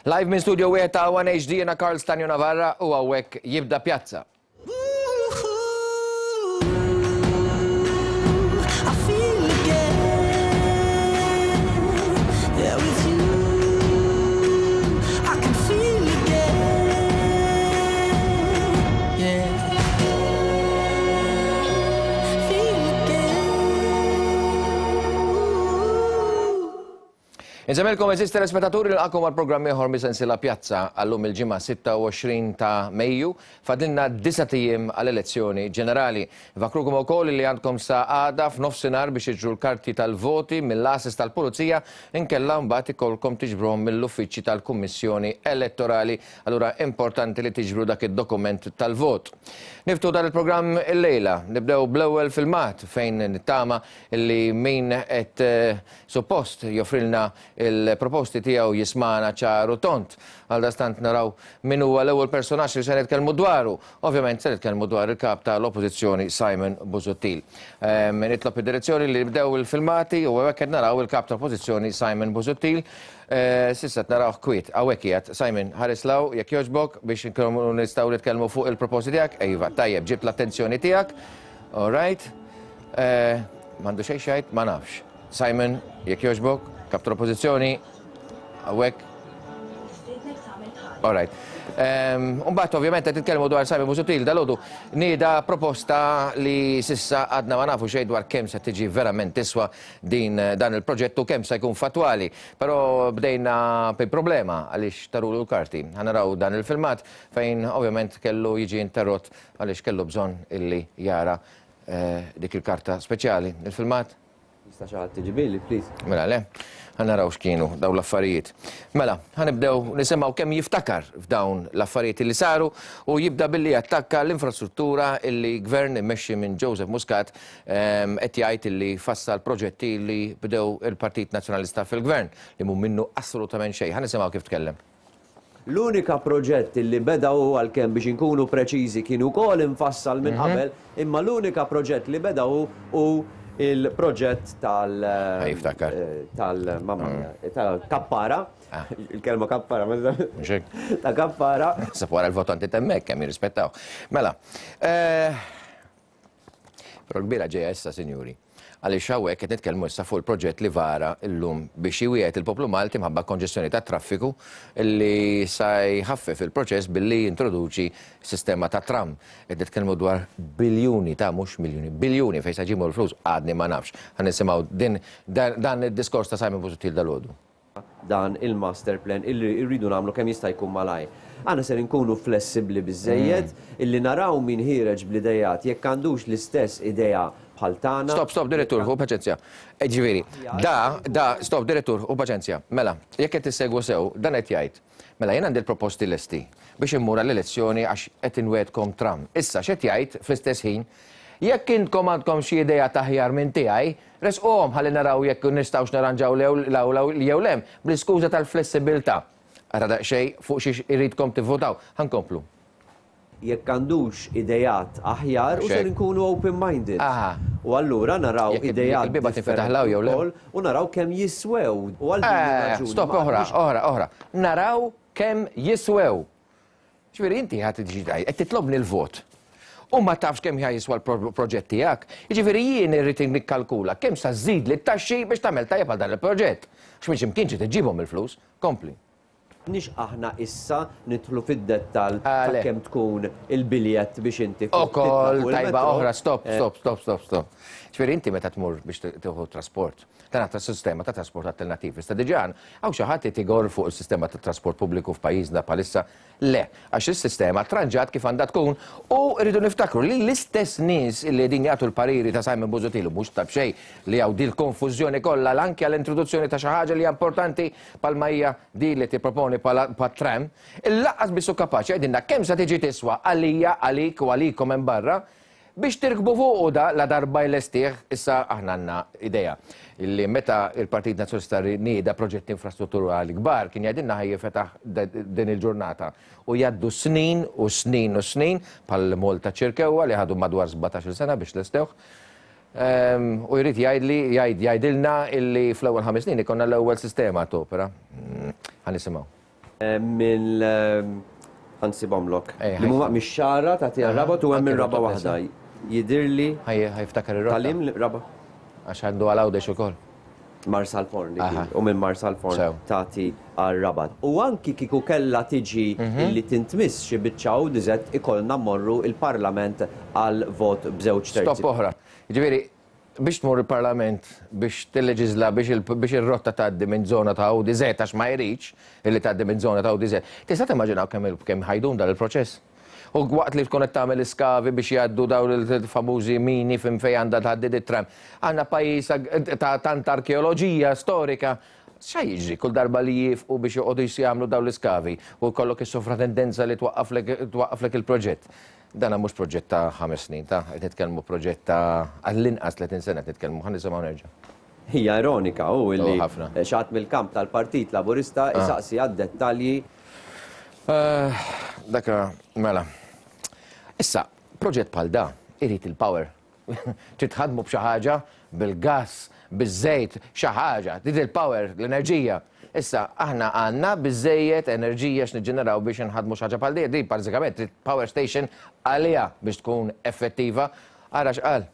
Live minn studio wieħed ta' One HD jiena Karl Stanio Navarra u hawnhekk jibda Pjazza. Insemmilkom eżis telespettaturi nilqakom għal programm ieħor mis-sensiela Pjazza għallum il-ġimgħa 26 ta' Mejju. Fadilna disa' ijiem għall-elezzjoni ġenerali. Nfakrukom ukoll li għandkom sa għada f'nofsinhar biex tiġru l-karti tal-voti mill-għases tal-Pulizija inkella mbagħad ikollkom tiġbruhom mill-uffiċċji tal-Kummissjoni Elettorali. Allura importanti li tiġbru dak id-dokument tal-vot. Niftu dan il-programm illejla. Nibdew bl-ewwel filmat fejn nittama li min qed suppost joffrilna l-proposti tiegħu jismagħna ċar u tond. Għaldaqstant naraw min huwa l-ewwel personaġġ li se nitkellmu dwaru. Ovvjament se nitkellmu dwar il-Kap ta' l-Oppożizzjoni Simon Busuttil. Nitlob id-direzzjoni li nibdew il-filmati u hawnhekk qed naraw il-Kap tal-Oppożizzjoni Simon Busuttil. S'issa qed narawh kwiet. Hawnhekk qiegħed. Simon, ħares 'l hawn jekk jogħġbok biex inkunu nistgħu nitkellmu fuq il-proposti tiegħek. Iva, tajjeb, ġibt l-attenzjoni tiegħek. All right. M'għandu xejn x'jgħid? Ma nafx. Simon, jekk jogħġbok, Kap tal-Oppożizzjoni, hawnhekk. All right. Umbagħad ovvjament qed nitkellmu dwar Simon Busuttil dalgħodu nieda proposta li s'issa għadna ma nafu xejn dwar kemm se tiġi verament tiswa din dan il-proġett u kemm se jkun fattwali. Però bdejna bi problema għaliex tarulu l-karti. Ħa naraw dan il-filmat fejn ovvjament kellu jiġi interrott għaliex kellu bżonn illi jara dik il-karta speċjali. Il-filmat? Jista' xi ħadd iġibili, please? Mela le, ħa naraw x'kienu dawn l-affarijiet. Mela, ħa nibdew nisimgħu kemm jiftakar f'dawn l-affarijiet li saru u jibda billi jattakka l-infrastruttura illi gvern immexxi minn Joseph Muscat qed jgħid illi fassal proġetti li bdew il-Partit Nazzjonalista fil-gvern li mhu minnu assolutament xejn. Ħa nisimgħu kif tkellem. L-unika proġett li beda hu, għalkemm biex inkunu preċiżi kien ukoll imfassal minn qabel, imma l-unika proġett li beda hu hu l-proġett tal tal mamma mia, ta' Kappara, il-kelma Kappara ma ta' Kappara. Naħseb wara l-votanti t'hemmhekk kemm jirrispettaw. Mela, Però l-kbira ġejja issa, sinjuri. Għaliex hawnhekk qed nitkellmu issa fuq il-proġett li vara llum biex iwiegħed il-poplu Malti mħabba konġestjoni tat-traffiku li sa jħaffef il-proċess billi jintroduċi sistema ta' tram. Qed nitkellmu dwar biljuni ta' mhux miljuni, biljuni fejn sa jġibu l-flus għadni ma nafx. Ħa nisimgħu din dan id-diskors ta' Simon Busuttil dalgħodu. dan il-master plan illi rridu nagħmlu kemm jista' jkun malajr. Aħna ser inkunu flessibbli biżżejjed illi naraw min ħiereġ bl-ideat jekk għandux l-istess idea bħal tagħna. Stop, stop, direttur, ħu paċenzja. Ġifieri, da, da, stop, direttur, ħu paċenzja. Mela, jekk qed tissegwu sew, dan qed jgħid. Mela, jien għandi l-proposti lesti biex immur għall-elezzjoni għax qed inwegħdkom tram. Issa, x'qed jgħid fl-istess ħin? Jekk intkom għandkom xi ideat aħjar minn tiegħi, Ressquhom ħalli naraw jekk nistgħux nirranġaw 'l hawn jew 'l hemm, bl-iskuża tal-flessibilità. Ara daqsxejn fuq xiex iridkom tivvutaw. Ħa nkomplu. Jekk għandux ideat aħjar u ser inkunu open minded. U allura naraw ideat differenti wkoll u naraw kemm jiswew. U għal din ir-raġuni. Stop, oħra, oħra, oħra. Naraw kemm jiswew. Ġifieri inti ħa tiġi tgħid qed titlobni l-vot u ma tafx kemm ħa jiswa l-proġett tiegħek. Jiġifieri jien irrid nikkalkula kemm sa żżidli t-taxxi biex tagħmel tajjeb għal dan il-proġett. Għax minn xi mkien trid iġġibhom il-flus. Kompli. Nix aħna issa nidħlu fid-dettall ta' kemm tkun il-biljett biex inti titla' fuq il-metro. Ukoll tajba oħra, stop, stop, stop, stop, stop. Ġifieri inti meta tmur biex tieħu trasport, Dan għad sistema ta' trasport alternattiv. Issa diġà hawn xi ħadd qed igorr fuq is-sistema ta' trasport pubbliku f'pajjiżna bħalissa? Le, għax is-sistema tranġat kif għandha tkun u rridu niftakru li l-istess nies li qegħdin jagħtu l-pariri ta' Simon Busuttil u mhux ta' b'xejn li hawn dil-konfużjoni kollha anke għall-introduzzjoni ta' xi ħaġa li hija importanti bħalma hija din li tipproponi bħala tram, il-lanqas biss hu kapaċi jgħidilna kemm se tiġi tiswa għalija, għalik u għalikom hemm barra Biex tirkbu fuqu da la darba jlestih, issa aħna għandna idea li meta il-Partit Nazzjonalista nieda proġetti infrastrutturali kbar kien jgħidilna ħa jifetaħ din il-ġurnata u jgħaddu snin u snin u snin bħal Malta Ċirkewwa li ħadu madwar 17-il sena biex lestewh. Ehm, u jrid jgħidli jgħid jgħidilna illi fl-ewwel ħames snin ikollna l-ewwel sistema topera. Ħa nisimgħu. Mill ħa nsibhomlok. Li huma mix-Xagħra tagħti għar-Rabat u hemm ir-raba' waħda. Jidhirli. Ħa jiftakar ir-rotta. Tal-im raba'. Għax għandu għal Għawdex ukoll. Marsalforn dik hi. U minn Marsalforn tagħti għar-Rabat. U anki kieku kellha tiġi illi tintmiss xi biċċa ODZ ikollna mmorru l-Parlament għal vot b'żewġ terzi. Stop oħra. Jiġifieri, biex tmur il-Parlament biex tilleġiżla biex ir-rotta tgħaddi minn żona ta' ODZ għax ma jridx illi tgħaddi minn żona ta' ODZ. Tista' timmaġinaw kemm kemm ħa jdum dan il-proċess? U waqt li tkun qed tagħmel iskavi biex jgħaddu dawn il-famużi mini fim fejn għandha tgħaddi dit-tram. Għandna pajjiż ta' tant arkeoloġija storika. X'ha jiġri kull darba li jiefqu biex joqogħdu jagħmlu dawn l-iskavi u jkollok is-sovratendenza li twaqqaflek twaqqaflek il-proġett. Dana mhux proġett ta' ħames snin, ta' qed nitkellmu proġett ta' għall-inqas 30 sena qed nitkellmu, ħa nisimgħu nerġa'. Hija ironika hu illi xi ħadd mill-kamp tal-Partit Laburista jsaqsi għad-dettalji. Dak mela. Issa, proġett bħal da irid il-power. Trid tħaddmu b'xi ħaġa, bil-gass, biż-żejt, xi ħaġa, trid il-power, l-enerġija. Issa, aħna għandna biżżejjed enerġija x'niġġeneraw biex inħaddmu xi ħaġa bħal din, din bażikament trid power station għaliha biex tkun effettiva. Ara x'qal.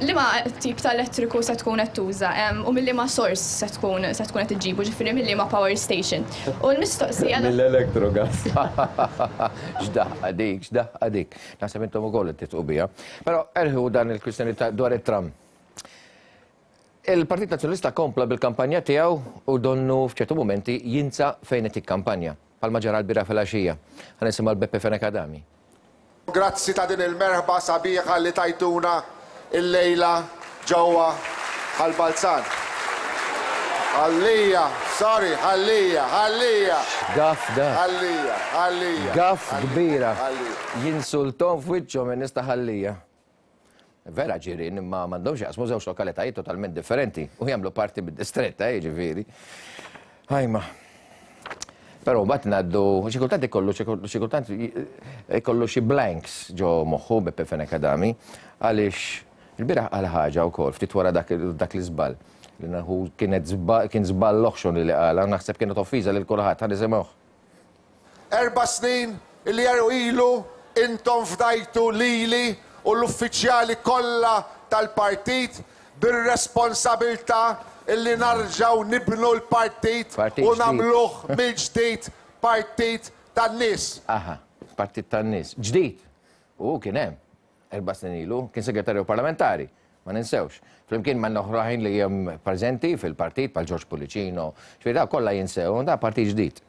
Liema tip ta' elettriku se tkun qed tuża u minn liema sors se tkun se tkun qed iġġibu, ġifieri minn liema power station. U l-mistoqsija. Mill-Electrogas. X'daħqa dik, x'daħqa dik. Naħseb intom ukoll qed titqu biha. Però erħu dan il-kwistjoni ta' dwar it-tram. Il-Partit Nazzjonalista kompla bil-kampanja tiegħu u donnu f'ċertu mumenti jinsa fejn qed jikkampanja, bħalma ġara l-bieraħ filgħaxija. Ħa nisimgħu l-Beppe Fenech Adami. Grazzi ta' din il-merħba sabiħa li tajtuna illejla ġewwa Ħal Balzan. Ħal Lija, sorry, Ħal Lija, Ħal Lija! X'gaff dak! Ħal Lija, Ħal Lija. Gaff kbira. Jinsulthom f'wiċċhom in-nies ta' Ħal Lija. Vera ġirien imma m'għandhomx jaqsmu żewġ lokalitajiet totalment differenti u jagħmlu parti mid-distrett, eh, jiġifieri. Ajma. Però mbagħad ngħaddu xi kultant ikollu xi kultant ikollu xi blanks ġo moħħu Beppe Fenech Adami għaliex il-bieraħ qal ħaġa wkoll ftit wara dak l-iżball li naħu kienet kien żball oħxon li qala naħseb kienet offiża lil kulħadd ħa nisimgħuh. Erba' snin li ilu intom fdajtu lili u l-uffiċjali kollha tal-partit bir-responsabilità li narġgħu nibnu l-partit u nagħmluh mill-ġdid partit tan-nies. Aha, partit tan-nies. Ġdid! U hu kien hemm. Erba' snin ilu kien segretarju parlamentari, ma ninsewx. Flimkien ma' oħrajn li hemm preżenti fil-partit bħal Ġorġ Pullicino, ġifieri dawn kollha jinsew, da partit ġdid.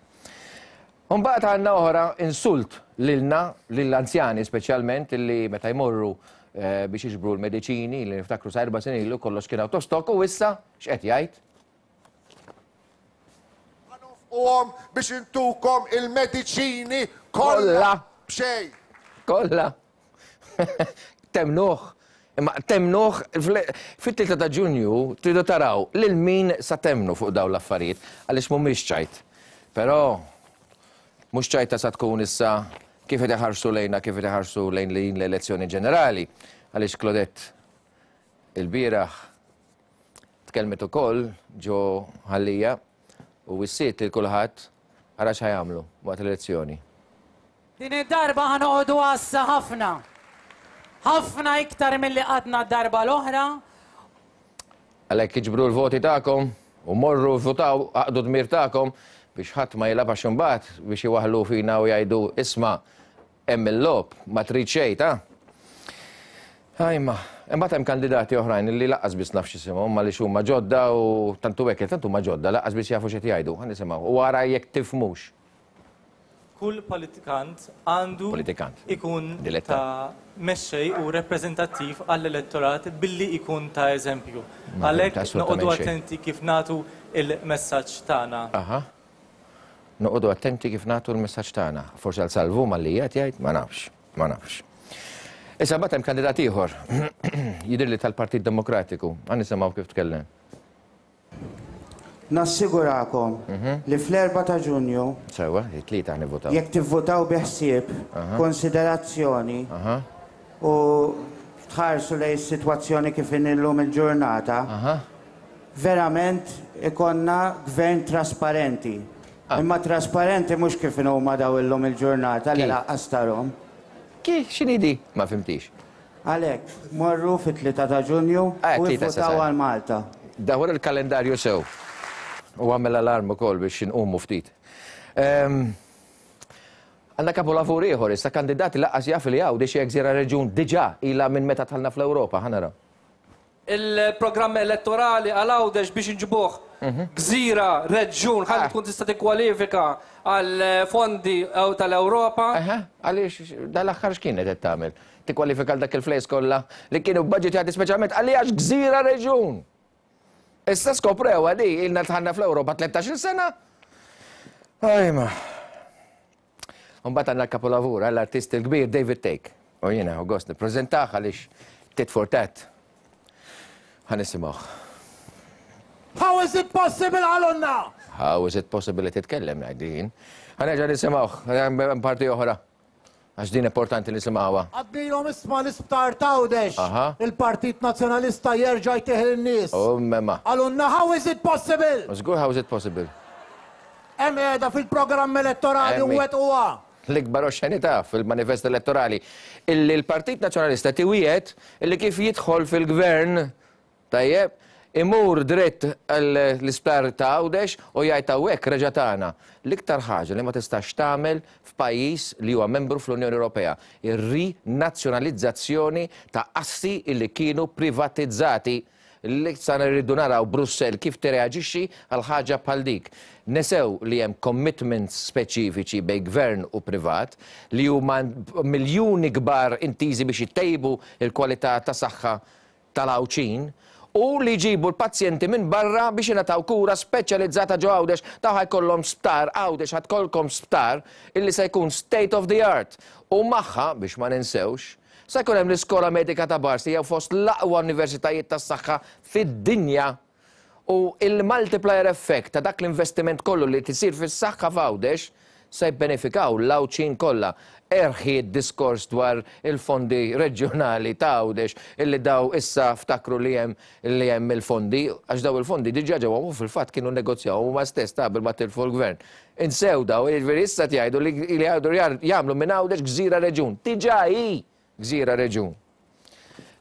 U mbagħad għandna oħra insult lilna, lill-anzjani speċjalment li meta jmorru eh, biex jiġbru l-mediċini li niftakru sa erba' snin ilu kollox kien out of stock u issa x'qed jgħid? Ħa nonfquhom biex intukom il-mediċini kollha b'xejn. Kollha. Temnuh. Imma temnuh fit-3 ta' Ġunju tridu taraw lil min sa temnu fuq dawn l-affarijiet għaliex mhumiex ċajt. Però mhux ċajta sa tkun issa kif qed iħarsu lejna kif qed iħarsu lejn l-elezzjoni ġenerali għaliex Claudette ilbieraħ tkellmet ukoll ġo Ħal Lija u wissiet lil kulħadd ara x'ħa jagħmlu waqt l-elezzjoni. Din id-darba ħa noqogħdu għassa ħafna. Ħafna iktar milli qgħadna d-darba l-oħra. Għalhekk iġbru l-voti tagħkom u morru vvutaw, aqdu d-dmir tagħkom biex ħadd ma jilgħab għax imbagħad biex iwaħħlu fina u jgħidu isma' Hemm il-logħob, ma trid xejn, ta? Ajma, imbagħad hemm kandidati oħrajn li laqqas biss naf x'isimhom għaliex huma ġodda u tant hu hekk, tant huma ġodda laqqas biss jafu x'qed jgħidu. Ħa nisimgħu u ara jekk tifhmux. Kull politikant għandu Politikant. ikun Dilettant. ta' mexxej u rappreżentattiv għall-elettorat billi ikun ta' eżempju. Ma fhimt Għalhekk assolutament noqogħdu xejn. attenti kif nagħtu l-messaġġ tagħna. Aha. Noqogħdu attenti kif nagħtu l-messaġġ tagħna. Forsi għal Salvu malli qiegħed jgħid, ma nafx, ma nafx. Issa mbagħad hemm kandidat ieħor, jidhirli tal-Partit Demokratiku. Ħa nisimgħu kif tkellem. Nassigurakom li fl-erbgħa ta' Ġunju, Sewwa, it-Tlieta ħa nivvutaw. jekk tivvutaw bi ħsieb, konsiderazzjoni u tħarsu lejn is-sitwazzjoni kif inhi llum il-ġurnata, Verament ikollna gvern trasparenti. Imma trasparenti mhux kif inhuma daw illum il-ġurnata li Kif? laqqas tarhom. Kif? X'inhi di? Ma fhimtix. Għalhekk, morru fit-3 ta' Ġunju Eh, u tlieta issa ivvutaw sar. għal Malta. Dawwar il-kalendarju sew. U għamel alarm ukoll biex inqumu ftit. Ehm, Għandna kapolavur ieħor issa kandidat li laqqas jaf li Għawdex hija gżira reġjun diġà ilha minn meta dħalna fl-Ewropa. Ħa naraw. Il-programm elettorali għal Għawdex biex inġibuh gżira, reġjun, ħalli tkun tista' tikkwalifika għal fondi tal-Ewropa. Eħe, għaliex dal-aħħar x'kienet qed tagħmel? Tikkwalifika għal dak il-flejs kollha li kienu bbaġitjati speċjalment għalli għax gżira reġjun. Issa skoprewha di, ilna dħalna fl-Ewropa 13-il sena. Ajma. Mbagħad għandna l-kapolavur, l-artist il-kbir David Thake. U jiena u gost nippreżentah għaliex tit for tat. Ħa nisimgħuh. How is it possible qalulna? How is it possible li titkellem ngħid jien. Ħa nerġa' nisimgħuh, hemm parti oħra. Għax din importanti nisimgħuha. Għadnilhom isma' l-isptar t'Għawdex. Il-Partit Nazzjonalista jerġa' jtih lin-nies. U mema. Qalulna how is it possible? Żgur how is it possible? Hemm qiegħda fil-programm elettorali u wettquha. L-ikbar oxxenità fil-manifest elettorali illi l-Partit Nazzjonalista tiwiegħed illi kif jidħol fil-Gvern, tajjeb, imur dritt l-isptar ta' Għawdex u jgħid hawnhekk reġa' tagħna. L-iktar ħaġa li ma tistax tagħmel f'pajjiż li huwa membru fl-Unjoni Ewropea, ir-rinazzjonalizzazzjoni ta' assi illi kienu privatizzati. Issa rridu naraw Brussell kif tirreaġixxi għal ħaġa bħal dik. Nesew li hemm commitments speċifiċi bejn gvern u privat li huma miljuni kbar intiżi biex itejbu l-kwalità ta' saħħa tal-Għawdxin u li jġibu l-pazjenti minn barra biex jingħataw kura speċjalizzata ġo Għawdex. Dawn ħa jkollhom sptar, Għawdex ħa tkollkom sptar illi se jkun state of the art u magħha, biex ma ninsewx, Se jkun hemm l-Iskola Medika ta' Bars li hija fost l-aqwa universitajiet tas-saħħa fid-dinja u l-multiplier effect ta' dak l-investiment kollu li qed isir fis-saħħa f'Għawdex se jibbenefikaw l-Għawdxin kollha. Erħi d-diskors dwar il-fondi reġjonali ta' Għawdex illi daw issa ftakru li hemm li hemm il-fondi għax daw il-fondi diġà ġew u fil-fatt kienu nnegozjawhom huma stess ta' qabel ma tilfu l-gvern. Insew daw, jiġifieri issa qed jgħidu li li jgħidu jagħmlu minn Għawdex gżira reġjun. Diġà hi gżira reġjun.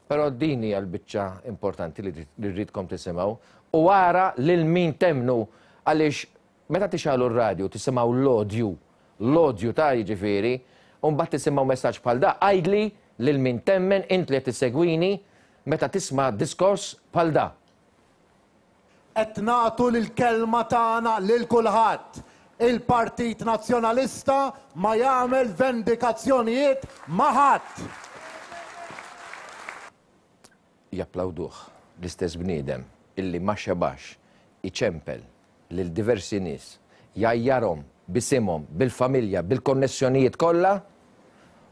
Però din hija l-biċċa importanti li rridkom tisimgħu u ara lil min temmnu għaliex meta tixgħalu r-radju tisimgħu l-odju, l-odju ta' jiġifieri, u mbagħad tisimgħu messaġġ bħal da, għidli lil min temmen int li qed issegwini meta tisma' diskors bħal da. Qed nagħtu l-kelma tagħna lil kulħadd. Il-Partit Nazzjonalista ma jagħmel vendikazzjonijiet ma' ħadd. Japplawduh l-istess bniedem illi ma xebax iċempel lil diversi nies, jgħajjarhom b'isimhom, bil-familja, bil-konnessjonijiet kollha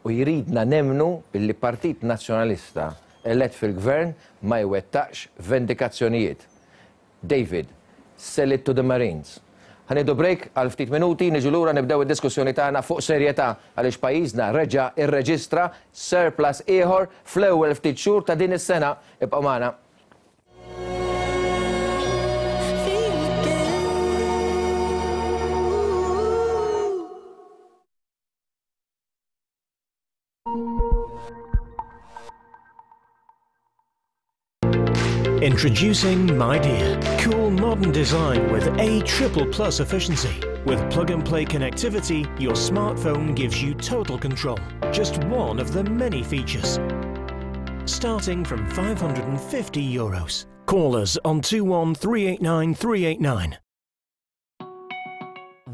u jridna nemmnu illi Partit Nazzjonalista elett fil-Gvern ma jwettaqx vendikazzjonijiet. David, sell it to the Marines. Ħa nieħdu break għal ftit minuti, niġu lura nibdew id-diskussjoni tagħna fuq serjetà għaliex pajjiżna reġa' rreġistra surplus ieħor fl-ewwel ftit xhur ta' din is-sena. Ibqgħu magħna. Introducing Midea, cool modern design with A triple plus efficiency. With plug-and-play connectivity, your smartphone gives you total control. Just one of the many features. Starting from 550 euros. Call us on 21389 389.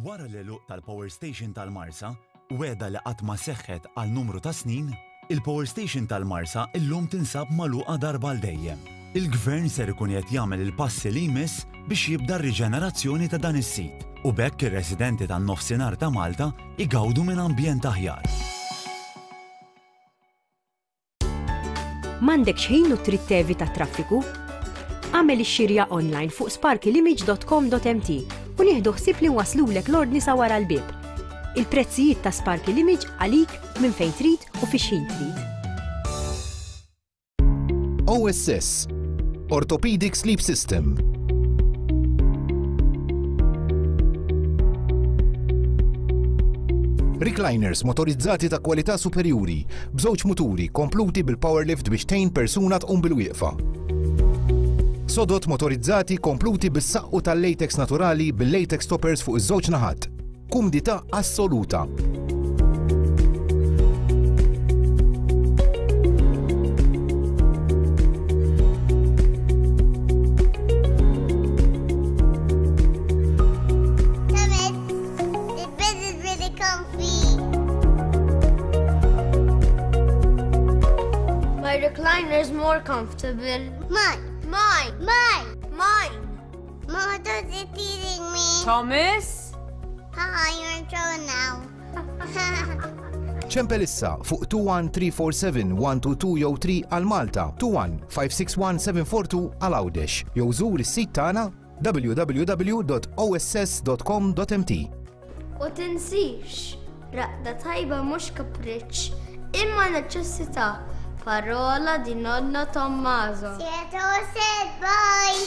Wara l-għeluq tal-Power Station tal-Marsa, wegħda li qatt ma seħħet għal numru ta' snin, il-Power Station tal-Marsa illum tinsab magħluqa darba għal dejjem. Il-Gvern ser ikun qed jagħmel il-passi li jmiss biex jibda r-riġenerazzjoni ta' dan is-sit u b'hekk ir-residenti tan-Nofsinhar ta' Malta jgawdu minn ambjent aħjar. M'għandekx ħin u trid tevita t-traffiku? Agħmel ix-xirja online fuq sparkylimage.com.mt u nieħdu ħsieb li nwasslulek l-ordni sa wara l-bieb. Il-prezzijiet ta' Sparky Limage għalik minn fejn trid u fi x'ħin trid. OSS, Orthopedic Sleep System. Recliners motorizzati ta' kwalità superjuri, b'żewġ muturi kompluti bil-power lift biex tgħin persuna tqum bilwieqfa. Sodod motorizzati kompluti bis-saqqu tal-latex naturali bil-latex toppers fuq iż-żewġ naħat. Kumdità assoluta. The bed is really comfy. My recliner is more comfortable. Mine. Mine. Mine. Mine. Mother's teasing me. Thomas? Haha, you're in trouble now. Ċempel issa fuq 21347 122 jew 3 għal Malta, 21 561 742 għal Għawdex jew żur is-sit tagħna www.oss.com.mt. U tinsix, raqda tajba mhux kapriċċ, imma neċessità. Parola di nonno Tommaso. said bye.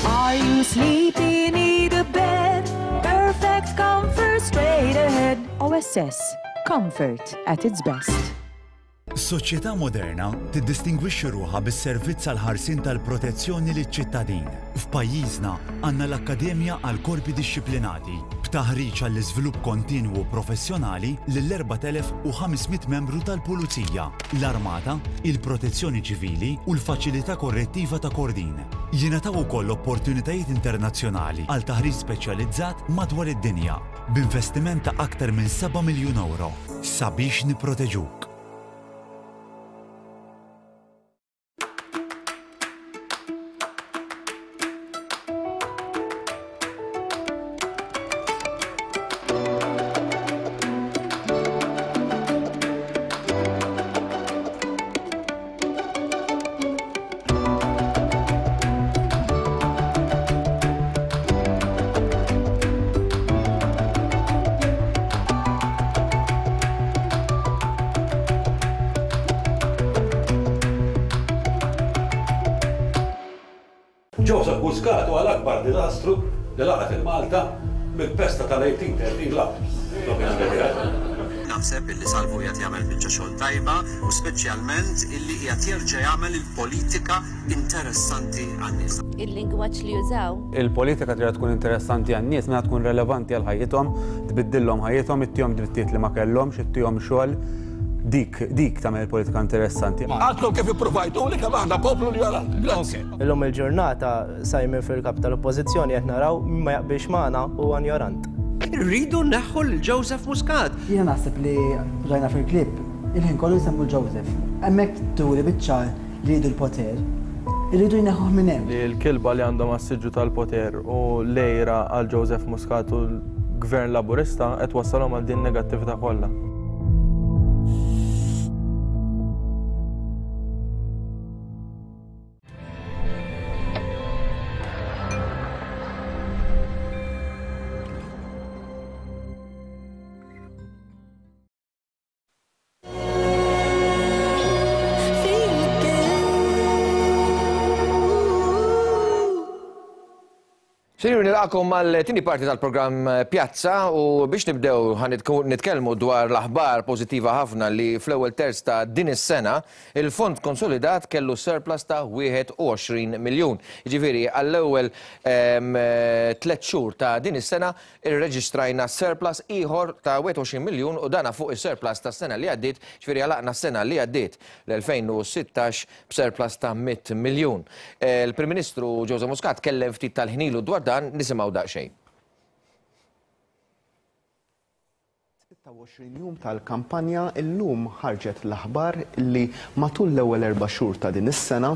Are you sleepy? Need a bed? Perfect comfort straight ahead. OSS. Comfort at its best. Soċjetà moderna tiddistingwixxi ruħha bis-servizz għall-ħarsien tal-protezzjoni liċ-ċittadin. F'pajjiżna għandna l-Akkademja għall-Korpi Dixxiplinati, b'taħriġ għall-iżvilupp kontinwu professjonali lill-4,500 membru tal-Pulizija, l-Armata, il-Protezzjoni Ċivili u l-Faċilità Korrettiva ta' Kordin. Jingħataw ukoll opportunitajiet internazzjonali għal taħriġ speċjalizzat madwar id-dinja, b'investiment ta' aktar minn seba' miljun ewro sabiex nipproteġuk. Joseph Muscat huwa l-akbar diżastru li laqat il-Malta mill-pesta tal-1813 'l hawn, l-opinjoni tiegħi. Naħseb illi Salvu qiegħed jagħmel biċċa xogħol tajba u speċjalment illi qiegħed jerġa' jagħmel il-politika interessanti għan-nies. Il-lingwaġġ li jużaw. Il-politika trid tkun interessanti għan-nies meta tkun relevanti għal ħajjithom, tbiddillhom ħajjithom, ittihom drittijiet li ma kellhomx, ittihom xogħol. Dik, dik tagħmel il-politika interessanti. Għadkom kif ippruvajtuli kemm aħna poplu njorant. Grazzi. Illum il-ġurnata Simon fil-kap tal-Oppożizzjoni qed naraw min ma jaqbilx magħna huwa njorant. Irridu nneħħu lil Joseph Muscat. Jiena naħseb li rajna fil-clip il-ħin kollu jsemmu l-Joseph. Hemmhekk turi biċ-ċar li jridu l-poter. Iridu jneħħuh minn hemm. Li l-kilba li għandhom għas-siġġu tal-poter u l-għira għal Joseph Muscat u l-Gvern Laburista qed twassalhom għal din in-negattività kollha. Sinjuri, nilqakom mal-tieni parti tal-programm Pjazza u biex nibdew ħa nitkellmu dwar l-aħbar pożittiva ħafna li fl-ewwel terz ta' din is-sena il-fond konsolidat kellu surplus ta' 21 miljun. Jiġifieri għall-ewwel tliet xhur ta' din is-sena Irreġistrajna surplus ieħor ta' 21 miljun u dana fuq is-surplus tas-sena li għaddiet, ġifieri għalaqna s-sena li għaddiet, l-2016, b'surplus ta' 100 miljun. Il-Prim Ministru Joseph Muscat tkellem ftit tal-ħin ilu dwar dan, nisimgħu daqsxejn. 26 jum tal-kampanja illum ħarġet l-aħbar li matul l-ewwel erba' xhur ta' din is-sena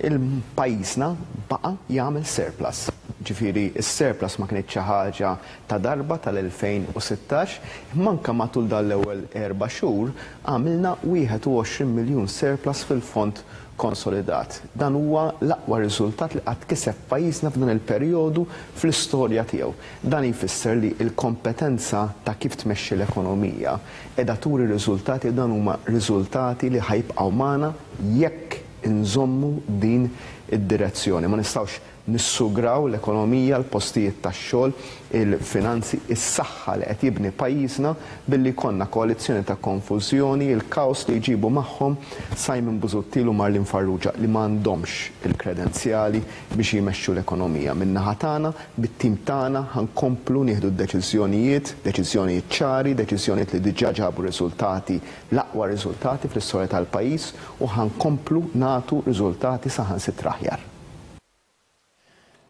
il-pajjiżna baqa' jagħmel surplus. Ġifieri s-surplus ma kinitx xi ħaġa ta' darba tal-2016, imma anke matul dan l-ewwel erba' xhur għamilna 21 miljun surplus fil-fond konsolidat. Dan huwa l-aqwa riżultat li qatt kiseb pajjiżna f'dan il-perjodu fl-istorja tiegħu. Dan jfisser li l-kompetenza ta' kif tmexxi l-ekonomija qiegħda turi riżultati u dan huma riżultati li ħa jibqgħu magħna jekk inżommu din id-direzzjoni. Ma nistgħux nissugraw l-ekonomija, l-postijiet tax-xogħol, il-finanzi, is-saħħa li qed jibni pajjiżna billi jkollna koalizzjoni ta' konfużjoni, il-kaos li jġibu magħhom Simon Busuttil u Marlene Farrugia li m'għandhomx il-kredenzjali biex jmexxu l-ekonomija. Min-naħa tagħna, bit-tim tagħna ħa nkomplu nieħdu d-deċiżjonijiet, deċiżjonijiet ċari, deċiżjonijiet li diġà ġabu riżultati, l-aqwa riżultati fl-istorja tal-pajjiż u ħa nkomplu nagħtu riżultati saħansitra aħjar.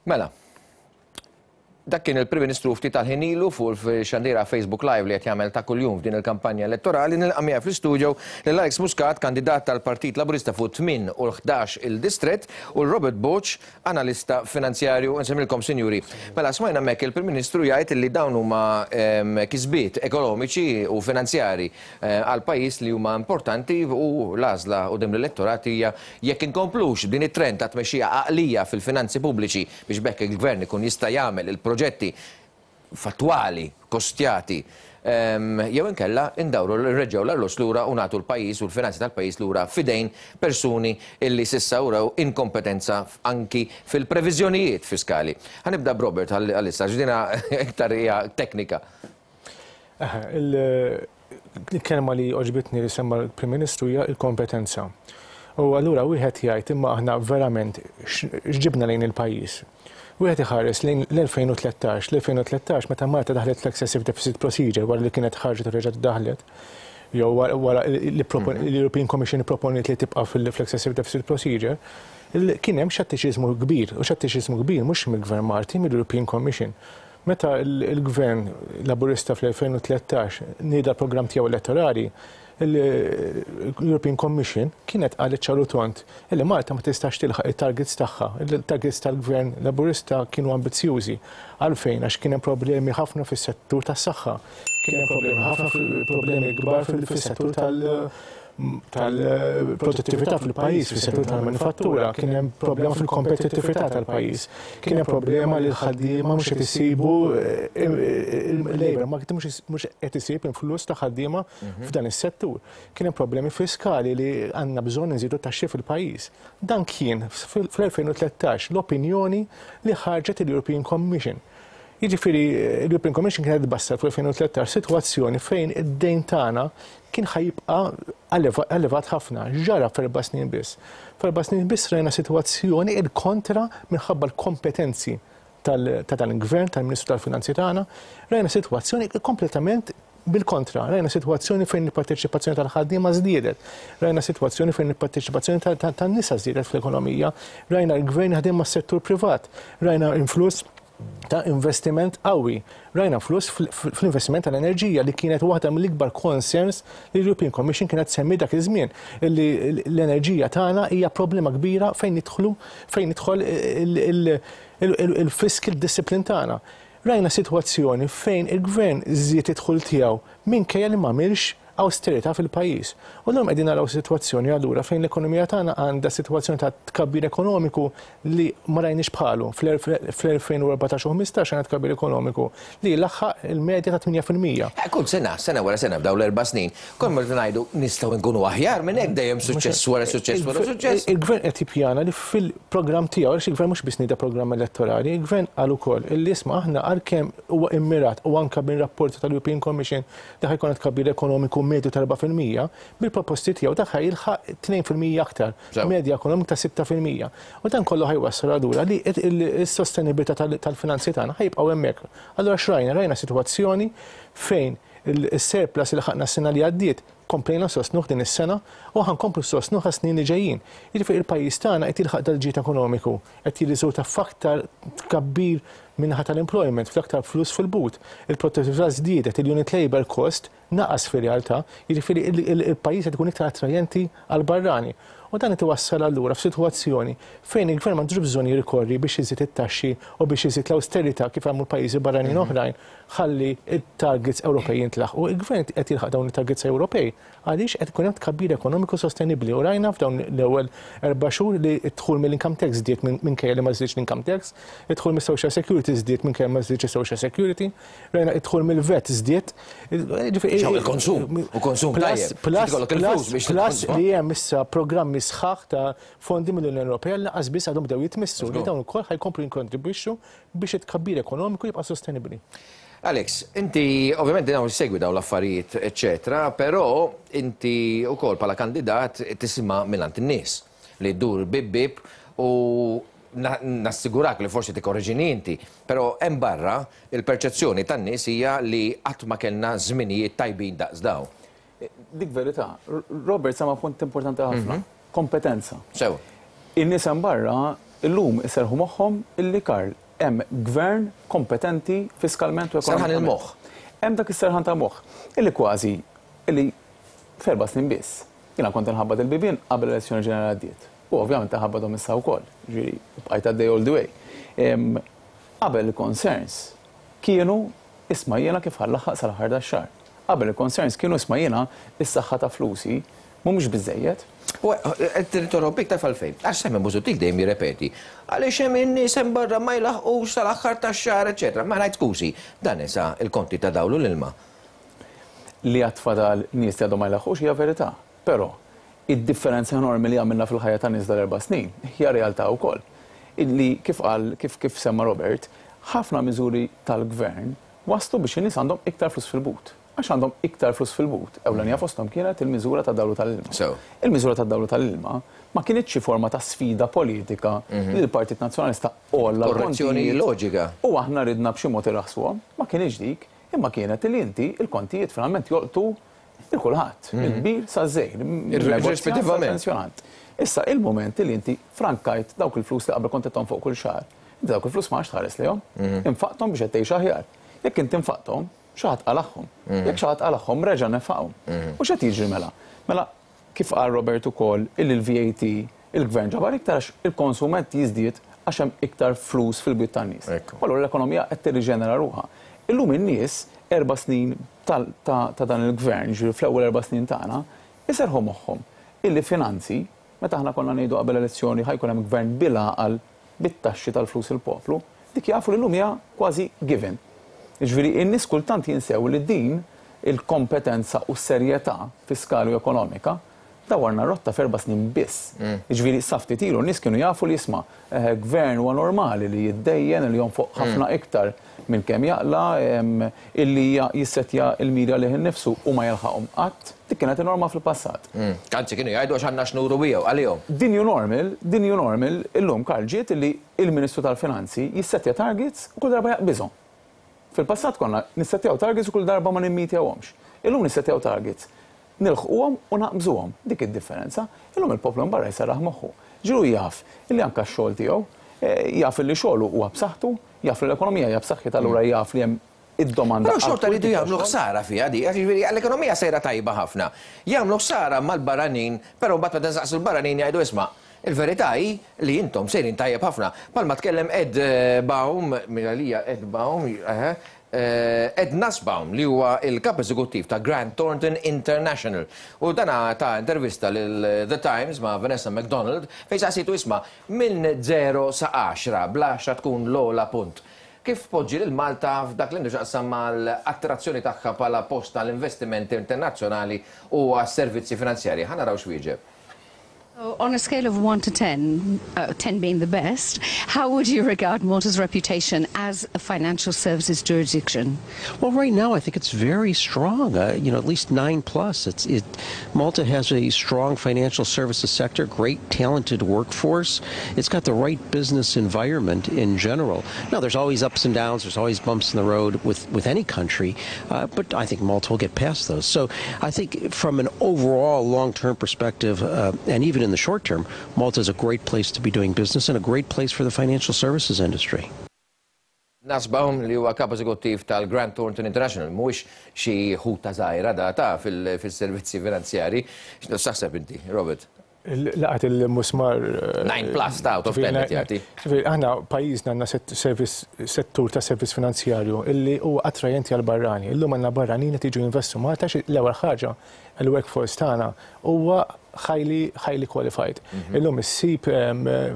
Mela, dak kien il-Prim Ministru ftit tal-ħin ilu fuq il-xandira Facebook Live li qed jagħmel ta' kuljum f'din il-kampanja elettorali. Nilqa' miegħi fl-istudio lil Alex Muscat, kandidat tal-Partit Laburista fuq 8 u l-11 il-distrett, u l-Robert Borg, analista finanzjarju. Insemmilkom, sinjuri. Mela, smajna hemmhekk il-Prim Ministru jgħid li dawn huma kisbiet ekonomiċi u finanzjari għal pajjiż li huma importanti u l-għażla quddiem l-elettorat hija jekk inkomplux b'din it-trend ta' tmexxija għaqlija fil-finanzi pubbliċi biex b'hekk il-Gvern ikun jista' jagħmel il-proġetti fattwali, kostjati, jew inkella ndawru nreġġgħu l-arloġġ lura u nagħtu l-pajjiż u l-finanzi tal-pajjiż lura f'idejn persuni illi s'issa urew inkompetenza anki fil-previżjonijiet fiskali. Ħa nibda b'Robert għalissa għax dina iktar hija teknika. Il-kelma li għoġbitni li semma l-Prim Ministru hija l-kompetenza. U allura wieħed jgħid imma aħna verament x'ġibna lejn il-pajjiż. Wieħed iħares lejn l-2013, l-2013 meta Malta daħlet fl-Excessive Deficit Procedure wara li kienet ħarġet u reġgħet daħlet, jew wara li l-European Commission ipproponiet li tibqa' fl-Excessive Deficit Procedure, kien hemm xettiċiżmu kbir, u xettiċiżmu kbir mhux mill-Gvern Malti, mill-European Commission. Meta l-Gvern Laburista fl-2013 nieda l-programm tiegħu elettorali, l-European Commission kienet qalet ċar u tond li Malta ma tistax tilħaq it-targets tagħha. Il-targets tal-Gvern Laburista kienu ambizzjużi. Għalfejn? Għax kien hemm problemi ħafna fis-settur tas-saħħa, kien hemm problemi ħafna problemi kbar fis-settur tal- tal-produttività fil-pajjiż, fis-settur tal-manifattura, kien hemm problema fil-kompetittività tal-pajjiż. Kien hemm problema li l-ħaddiema mhux qed isibu il-labor market mhux qed isib influss ta' ħaddiema f'dan is-settur. Kien hemm problemi fiskali li għandna bżonn inżidu t-taxxi fil-pajjiż. Dan kien fl-2013 l-opinjoni li ħarġet il-European Commission. Jiġifieri l-European Commission kienet tbassar fl-2013 sitwazzjoni fejn id-dejn tagħna kien ħa jibqa' elevat ħafna. X'ġara f'erba' snin biss? F'erba' snin biss rajna sitwazzjoni il-kontra minħabba l-kompetenzi ta' dan il-Gvern, tal-Ministru tal-Finanzi tagħna, rajna sitwazzjoni kompletament bil-kontra. Rajna sitwazzjoni fejn il-parteċipazzjoni tal-ħaddiema żdiedet. Rajna sitwazzjoni fejn il-parteċipazzjoni tan-nisa żdiedet fl-ekonomija. Rajna l-Gvern jaħdem mas-settur privat. Rajna influss ta' investiment qawwi. Rajna flus fl-investiment tal-enerġija li kienet waħda mill-ikbar concerns li l-European Commission kienet semmi dak iż-żmien li l-enerġija tagħna hija problema kbira fejn nidħlu fejn jidħol il-fiscal discipline tagħna. Rajna sitwazzjoni fejn il-Gvern żied id-dħul tiegħu minkejja li m'għamilx awsterità fil-pajjiż. U llum qegħdin naraw sitwazzjoni allura fejn l-ekonomija tagħna għandha sitwazzjoni ta' tkabbir ekonomiku li ma rajniex bħalu. Fl-2014 u 15 għandna tkabbir ekonomiku li laħaq il-medja ta' 8%. Kull sena, sena wara sena f'dawn l-erba' snin, konna qed ngħidu nistgħu nkunu aħjar minn hekk dejjem suċċess wara suċċess wara suċċess. Il-Gvern qed jippjana li fil-programm tiegħu, għaliex il-Gvern mhux biss nieda programm elettorali, il-Gvern qal ukoll illi isma' aħna għalkemm huwa immirat u anke minn rapporti tal-European Commission li ħa jkollna tkabbir ekonomiku medju ta' 4%, bil-proposti tiegħu dak ħa jilħaq 2% aktar, medja ekonomika ta' 6%. U dan kollu ħa jwassal allura li s-sostenibilità tal-finanzi tagħna ħa jibqgħu hemmhekk. Allura x'rajna? Rajna sitwazzjoni fejn is-surplus li laħaqna s-sena li għaddiet komplejna nsostnuh din is-sena u ħa nkomplu nsostnuh għas-snin li ġejjin. Jiġifieri l-pajjiż tagħna qed jilħaq dal-ġid ekonomiku, qed jirriżulta f'aktar tkabbir min-naħa tal-employment, fl-aktar flus fil-but. Il-produttività żdiedet, il-unit labour cost naqas fir-realtà, jiġifieri il-pajjiż qed ikun iktar attrajenti għall-barrani. U dan qed iwassal allura f'sitwazzjoni fejn il-Gvern m'għandux bżonn jirrikorri biex iżid it-taxxi u biex iżid l-awsterità kif għamlu pajjiżi barranin oħrajn ħalli t-targets Ewropej jintlaħqu. Il-Gvern qed jilħaq dawn it-targets Ewropej. Għaliex qed ikun hemm tkabbir ekonomiku sostenibbli u rajna f'dawn l-ewwel erba' xhur li d-dħul mill-income tax żdied minkejja li ma żdiedx l-income tax, id-dħul mis-social security żdied minkejja ma żdiedx is-social security, rajna d-dħul mill-VAT żdied. Ġew il-konsum, u konsum tajjeb. Plus, plus, plus li hemm issa programmi sħaħ ta' fondi mill-Unjoni Ewropea li lanqas biss għadhom bdew jitmissu li dawn ukoll ħa jkomplu jikkontribwixxu biex it-tkabbir ekonomiku jibqa' sostenibbli. Alex, inti ovvjament dawn issegwi dawn l-affarijiet eċċetera, però inti wkoll bħala kandidat tisma' mingħand in-nies li ddur bieb bieb u nassigurak li forsi tikkorreġini inti, però hemm barra il-perċezzjoni tan-nies hija li qatt ma kellna żminijiet tajbin daqs dawn. Dik verità. Robert sema punt importanti ħafna. Kompetenza. Sew. In-nies hemm barra illum iserrħu moħħhom illi Karl hemm gvern kompetenti fiskalment u ekonomikament. Serħan il-moħħ. Hemm dak is-serħan ta' moħħ illi kważi illi f'erba' snin biss. Jiena kont inħabbat il-bibien qabel l-elezzjoni ġenerali għaddiet. U ovvjament inħabbathom issa wkoll. Ġifieri bqajt għaddej all the way. Qabel il-concerns kienu isma' jiena kif ħa nlaħħaq sal-aħħar tax-xahar. Qabel il-concerns kienu isma' jiena s-saħħa ta' flusi mhumiex biżżejjed. U qed ninterrompik taf għalfejn? Għax Simon Busuttil dejjem jirrepeti, għaliex hemm in-nies hemm barra ma jlaħħqux sal-aħħar tax-xahar eċċetera. Ma ngħid skużi, dan nesa l-konti ta' dawl u l-ilma. Li għad fadal nies li għadhom ma jlaħħqux hija verità. Però, id-differenza enormi li għamilna fil-ħajja tan-nies dal-erba' snin hija realtà wkoll. Illi kif qal, kif kif semma Robert, ħafna miżuri tal-Gvern wasslu biex in-nies għandhom iktar flus fil-but. Għax għandhom iktar flus fil-but, ewlenija fosthom kienet il-miżura tad-dawl u tal-ilma. Il-miżura tad-dawl u tal-ilma ma kinitx xi forma ta' sfida politika li l-Partit Nazzjonalista għolla Korrezzjoni l-kontijiet loġika. u aħna ridna b'xi mod irraħħsuhom. Ma kinitx dik, imma kienet li inti l-kontijiet finalment jolqtu lil kulħadd, mill-kbir saż-żgħir, min-negozjant sal-pensjonant. Issa il-mument li inti frankajt dawk il-flus li qabel kont qed tonfoq kull xahar, inti dawk il-flus ma għadx tħares lejhom, infaqthom biex qed tgħix aħjar. Jekk inti nfaqthom, xi ħadd qalagħhom. Jekk xi ħadd qalagħhom, reġa' nefaqhom. U x'qed jiġri mela? Mela, kif qal Robert ukoll, illi l-VAT il-Gvern ġabar iktar għax il-konsum qed jiżdied għax hemm iktar flus fil-bwiet tan-nies. U allura l-ekonomija qed tirriġenera ruħha. Illum in-nies, erba' snin ta' dan il-Gvern, jiġifieri fl-ewwel erba' snin tagħna, iserrħu moħħhom illi finanzi, meta aħna konna ngħidu qabel elezzjoni ħa jkun hemm Gvern bil-għaqal bit-taxxi tal-flus il-poplu, dik jafu li llum hija kważi given. Jiġifieri n-nies kultant jinsew li din il-kompetenza u s-serjetà fiskali u ekonomika dawwarna r-rotta f'erba' snin biss. Jiġifieri sa ftit ilu n-nies kienu jafu li isma' gvern huwa normali li jiddejjen, li jonfoq ħafna iktar minn kemm jaqla', illi jissettja l-miri għalih innifsu u ma jilħaqhom qatt. Dik kienet in-norma fil-passat. Anzi kienu jgħidu għax għandna x'nuru miegħu għalihom. The new normal, the new normal illum Karl ġiet illi l-Ministru tal-Finanzi jissettja targets u kull darba jaqbiżhom. Fil-passat konna nissettjaw targets u kull darba ma nimmitjawhomx. Illum nissettjaw targets, nilħquhom u naqbżuhom. Dik id-differenza. Illum il-poplu hemm barra jserraħ moħħu. Ġiru jaf illi anke x-xogħol tiegħu, jaf illi xogħlu huwa b'saħħtu, jaf li l-ekonomija hija b'saħħitha allura jaf li hemm id-domanda Però xorta rridu jagħmlu ħsara fiha di, għax jiġifieri l-ekonomija sejra tajba ħafna. Jagħmlu ħsara mal-barranin, però mbagħad meta nsaqsu l-barranin jgħidu isma' il-verità hi li intom sejrin tajjeb ħafna. Bħalma tkellem Ed Baum, minn għalija Ed Baum, eħe, Ed Nussbaum li huwa l-Kap Eżekuttiv ta' Grant Thornton International. U dan ta intervista lil The Times ma' Vanessa McDonald fejn saqsietu isma' minn zero sa għaxra, bl-għaxra tkun l-ogħla punt. Kif tpoġġi lil Malta f'dak li għandu x'jaqsam mal-attrazzjoni tagħha bħala post għall-investimenti internazzjonali u għas-servizzi finanzjarji? Ħa naraw x'wieġeb. So on a scale of 1 to 10, uh, 10 being the best, how would you regard Malta's reputation as a financial services jurisdiction? Well, right now I think it's very strong. Uh, you know, at least 9 plus. It's it Malta has a strong financial services sector, great talented workforce. It's got the right business environment in general. Now, there's always ups and downs. There's always bumps in the road with, with any country, uh, but I think Malta will get past those. So I think from an overall long-term perspective, uh, and even in the short term, Malta is a great place to be doing business and a great place for the financial services industry. Nussbaum li huwa kap eżekuttiv tal-Grant Thornton International mhuwiex xi ħuta żgħira da ta' fil-servizzi finanzjarji. X'taħseb inti, Robert? Laqat il-musmar. 9 plus ta' out of 10 qed jagħti. Ġifieri aħna pajjiżna għandna settur ta' servizz finanzjarju illi huwa attrajenti għal barrani. Illum għandna barranin qed jiġu jinvestu Malta għax l-ewwel ħaġa il-workforce tagħna huwa highly highly qualified. Illum issib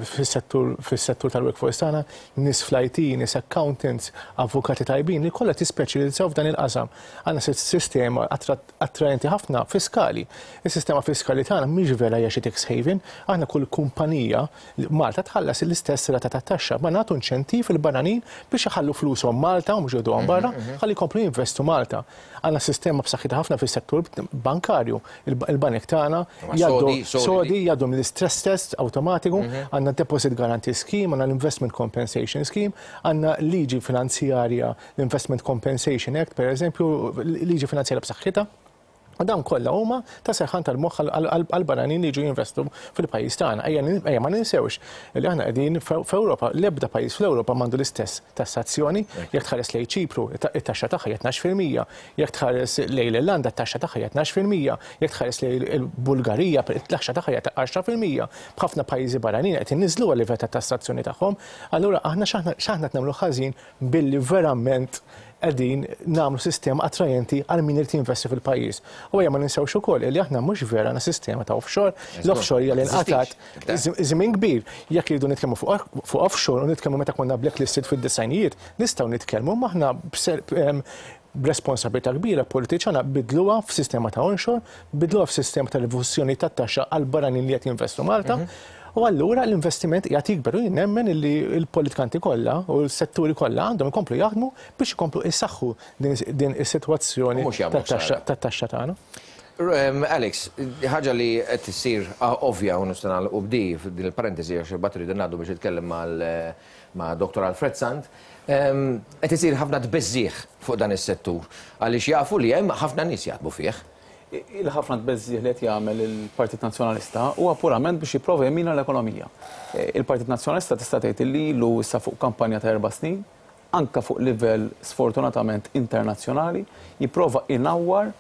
fis-settur fis-settur tal-workforce tagħna nies fl-IT, nies accountants, avukati tajbin li kollha tispeċjalizzaw f'dan il-qasam. Għandna sistema attraenti ħafna fiskali. Is-sistema fiskali tagħna mhix vera hija xi tax haven. Aħna kull kumpanija Malta tħallas l-istess rata ta' taxxa, ma nagħtu inċentiv il-barranin biex iħallu flushom Malta u mhux jgħoduhom barra, ħalli jkomplu jinvestu Malta. Għandna sistema b'saħħitha ħafna fis-settur bankarju. Il-banek tagħna jgħaddu sodi, jgħaddu mill-istress test awtomatiku, għandna deposit guarantee scheme, għandna l-investment compensation scheme, għandna liġi finanzjarja l-Investment Compensation Act, per eżempju, liġi finanzjarja b'saħħitha. U dawn kollha huma ta' serħan tal-moħħ għall-barranin li jiġu jinvestu fil-pajjiż tagħna. Ejja ma ninsewx li aħna qegħdin f'Ewropa, l-ebda pajjiż fl-Ewropa m'għandu l-istess tassazzjoni. Jekk tħares lejn Ċipru, it-taxxa tagħha hija 12%. Jekk tħares lejn l-Irlanda, it-taxxa tagħha hija 12%. Jekk tħares lejn il-Bulgarija, it-taxxa tagħha hija 10%. B'ħafna pajjiżi barranin qed inniżżluha l-livell ta' tassazzjoni tagħhom. Allura aħna x'aħna qed nagħmlu ħażin billi verament qegħdin nagħmlu sistema attrajenti għal min irid jinvesti fil-pajjiż. U ejja ma ninsewx ukoll li aħna mhux vera għandna sistema ta' offshore. L-offshore hija li nqatgħet żmien kbir. Jekk irridu nitkellmu fuq offshore u nitkellmu meta konna blacklisted fid-disgħinijiet, nistgħu nitkellmu imma aħna b'responsabilità kbira politiċi għandna bidluha f'sistema ta' onshore, bidluha f'sistema ta' rifużjoni tat-taxxa għal barranin li qed jinvestu Malta. U allura l-investiment qiegħed jikber u jien nemmen illi l-politikanti kollha u l-setturi kollha għandhom ikomplu jaħdmu biex ikomplu jsaħħu din is-sitwazzjoni tat-taxxa tagħna. Alex, ħaġa li qed issir ovvja u nista' nagħlqu b'di din il-parentesi għax imbagħad irridu ngħaddu biex nitkellem ma' Dottor Alfred Sant, qed isir ħafna tbeżżigħ fuq dan is-settur għaliex jafu li hemm ħafna nies jaħdmu fih. Il-ħafna tbeżżigħ li qed jagħmel il-Partit Nazzjonalista huwa purament biex jipprova jemmina l-ekonomija. Il-Partit Nazzjonalista tista' tgħid li ilu issa fuq kampanja ta' erba' snin, anke fuq livell sfortunatament internazzjonali, jipprova inawwar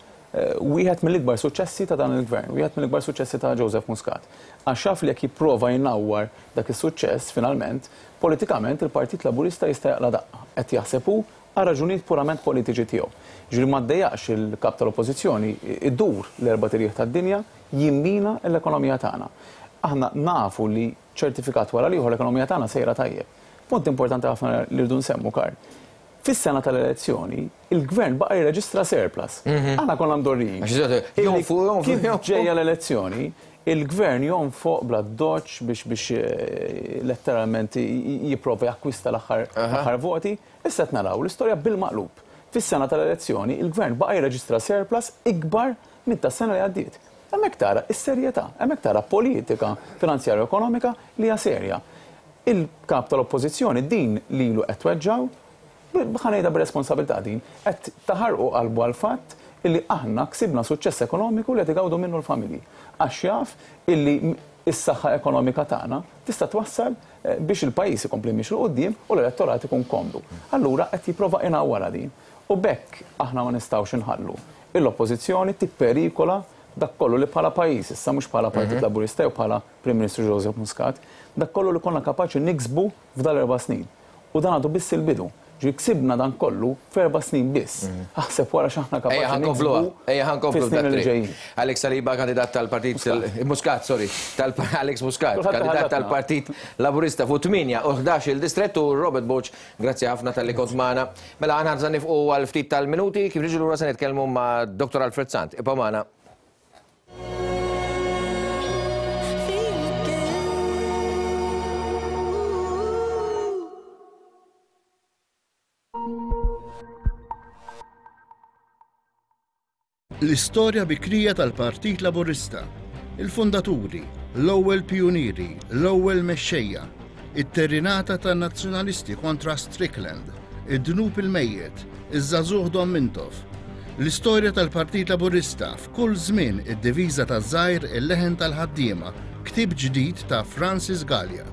wieħed mill-ikbar suċċessi ta' dan il-Gvern, wieħed mill-ikbar suċċessi ta' Joseph Muscat. Għax jaf li jekk jipprova jnawwar dak is-suċċess, finalment, politikament il-Partit Laburista jista' jaqla' daqqa. Qed jaħseb hu għal raġunijiet purament politiċi tiegħu. Jiġifieri ma ddejjaqx il-Kap tal-Oppożizzjoni idur l-erbat irjieħ tad-dinja jimmina l-ekonomija tagħna. Aħna nafu li ċertifikat wara l-ieħor l-ekonomija tagħna sejra tajjeb. Punt importanti ħafna li rridu nsemmu, Karl. Fis-sena tal-elezzjoni, il-Gvern baqa' jirreġistra surplus. Aħna konna mdorrijin. Kif ġejja l-elezzjoni, il-Gvern jonfoq bl-addoċċ biex biex letteralment jipprova jakkwista l-aħħar voti. Issa qed naraw l-istorja bil-maqlub. Fis-sena tal-elezzjoni, il-Gvern baqa' jirreġistra surplus ikbar minn tas-sena li għaddiet. Hemmhekk tara s-serjetà, hemmhekk tara politika finanzjarja u ekonomika li hija serja. Il-Kap tal-Oppożizzjoni din lilu qed tweġġgħu, ħa ngħidha b'responsabilità din, qed taħarqu qalbu għall-fatt illi aħna ksibna suċċess ekonomiku li qed igawdu minnu l-familji. Għax jaf illi s-saħħa ekonomika tagħna tista' twassal biex il-pajjiż ikompli miexi 'l quddiem u l-elettorat ikun komdu. Allura qed jipprova inawwarha din. U b'hekk aħna ma nistgħux inħallu l-Oppożizzjoni tipperikola dak kollu li bħala pajjiż, issa mhux bħala Partit Laburista jew bħala Prim Ministru Joseph Muscat, dak kollu li konna kapaċi niksbu f'dal-erba' snin. U dan għadu biss il-bidu. Ġifieri ksibna dan kollu f'erba' snin biss. Aħseb wara x'aħna kapaċi niksbu Ejja ħa nkomplu fis-snin li ġejjin. Alex Saliba, kandidat tal-Partit Muscat, sorry, Alex Muscat, kandidat tal-Partit Laburista fuq 8 u 11 il-distrett u Robert Borg, grazzi ħafna talli kont magħna. Mela aħna se nifqu għal ftit tal-minuti, kif niġu lura se nitkellmu ma' Dr. Alfred Sant. Ibqgħu magħna. L-istorja bikrija tal-Partit Laburista, il-fundaturi, l-ewwel pijunieri, l-ewwel mexxejja, it-terrinata tan-Nazzjonalisti kontra Strickland, id-dnub il-mejjet, iż-żagħżugħ Dom Mintoff. L-istorja tal-Partit Laburista f'kull żmien id-diviża taż-żgħir il-leħen tal-ħaddiema, ktieb ġdid ta' Francis Galea.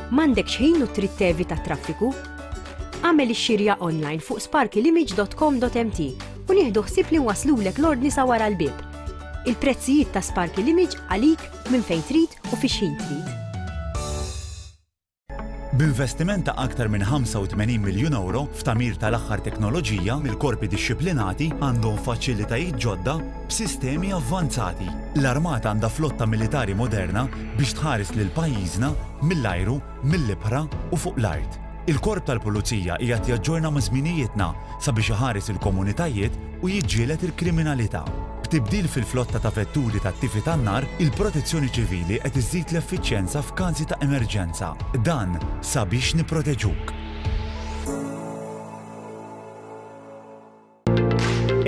M'għandekx ħin u trid tevita t-traffiku? Agħmel ix-xirja online fuq sparkylimage.com.mt u nieħdu ħsieb li nwasslulek l-ordni sa wara l-bieb. Il-prezzijiet ta' Sparky Limage għalik minn fejn trid u fi x'ħin trid. B'investiment ta' aktar minn 85 miljun ewro f'tagħmir tal-aħħar teknoloġija, il-korpi dixxiplinati għandhom faċilitajiet ġodda b'sistemi avvanzati. L-Armata għandha flotta militari moderna biex tħares lil pajjiżna mill-ajru, mill-ibħra u fuq l-art. Il-Korp tal-Pulizija qiegħed jaġġorna ma' żminijietna sabiex iħares il-komunitajiet u jiġġieled il-kriminalità. B'tibdil fil-flotta ta' vetturi tat-tifi tan-nar, il-Protezzjoni Ċivili qed iżżid l-effiċjenza f'każi ta' emerġenza. Dan sabiex nipproteġuk.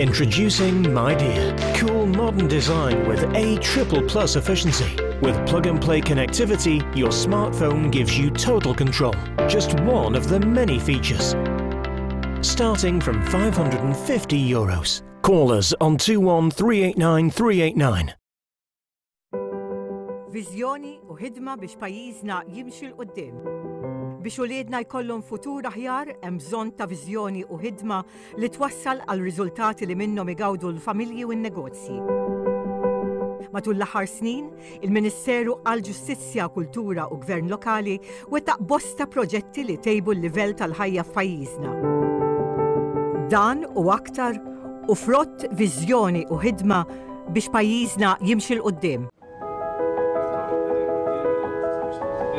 Introducing Midea. Cool modern design with A triple plus efficiency. With plug and play connectivity, your smartphone gives you total control. Just one of the many features. Starting from 550 euros. Call us on 21 389 389. Viżjoni u ħidma biex pajjiżna jimxi 'l quddiem. Biex uliedna jkollhom futur aħjar hemm bżonn ta' viżjoni u ħidma li twassal għal riżultati li minnhom igawdu l-familji u n-negozji. Matul l-aħħar snin, il-Ministeru għall-Ġustizzja, Kultura u Gvern Lokali wettaq bosta proġetti li tejbu l-livell tal-ħajja f'pajjiżna. Dan u aktar u frott viżjoni u ħidma biex pajjiżna jimxi 'l quddiem.